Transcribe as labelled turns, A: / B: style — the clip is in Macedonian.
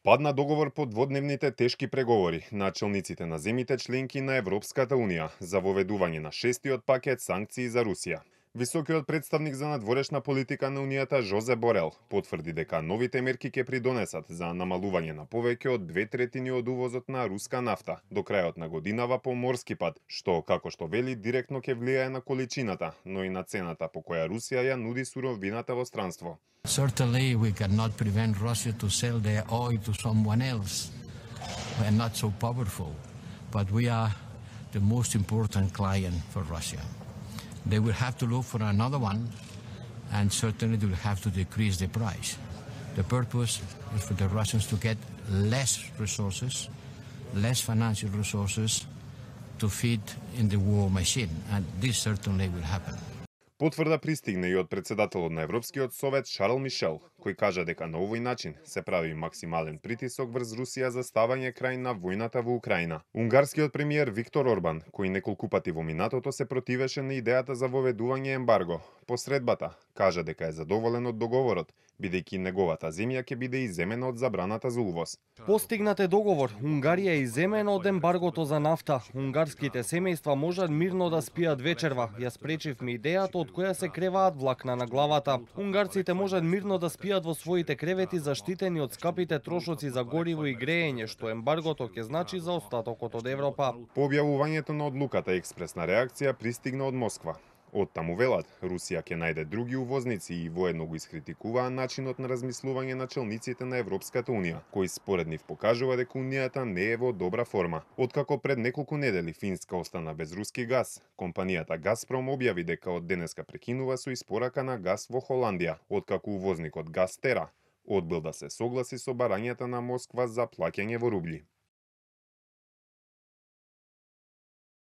A: Падна договор по дводневните тешки преговори на челниците на земите членки на Европската Унија за воведување на шестиот пакет санкции за Русија. Високиот представник за надворешна политика на Унијата Жозе Борел потврди дека новите мерки ќе придонесат за намалување на повеќе од 2/3 од увозот на руска нафта до крајот на годинава по морски пат, што, како што вели, директно ќе влијае на количината, но и на цената по која Русија ја нуди суровината во странство.
B: Certainly we cannot prevent Russia to sell their oil to someone else. We are not so powerful, but we are the most important client for Russia. They will have to look for another one, and certainly they will have to decrease the price. The purpose is for the Russians to get less resources, less financial resources to feed in the war machine, and this certainly will happen.
A: Потврда пристигна и од председателот на Европскиот совет Шарл Мишел, кој кажа дека на овој начин се прави максимален притисок врз Русија за ставање крај на војната во Украина. Унгарскиот премиер Виктор Орбан, кој неколку пати во минатото се противеше на идејата за воведување ембарго, по средбата кажа дека е задоволен од договорот, бидејќи неговата земја ќе биде изземена од забраната за увоз.
C: Постигнат е договор. Унгарија е изземена од ембаргото за нафта. Унгарските семејства можат мирно да спијат вечерва. Ја спречивме идејата од која се креваат влакна на главата. Унгарците можат мирно да спијат во своите кревети заштитени од скапите трошоци за гориво и греење, што ембаргото ќе значи за остатокот од Европа.
A: По објавувањето на одлуката, експресна реакција пристигна од Москва. Од таму велат, Русија ќе најде други увозници и воедно го искритикуваа начинот на размислување на челниците на Европската Унија, кој според нив покажува дека Унијата не е во добра форма. Откако пред неколку недели Финска остана без руски газ, компанијата Газпром објави дека од денеска прекинува со испорака на газ во Холандија, откако увозникот Газтера одбил да се согласи со барањата на Москва за плаќање во рубли.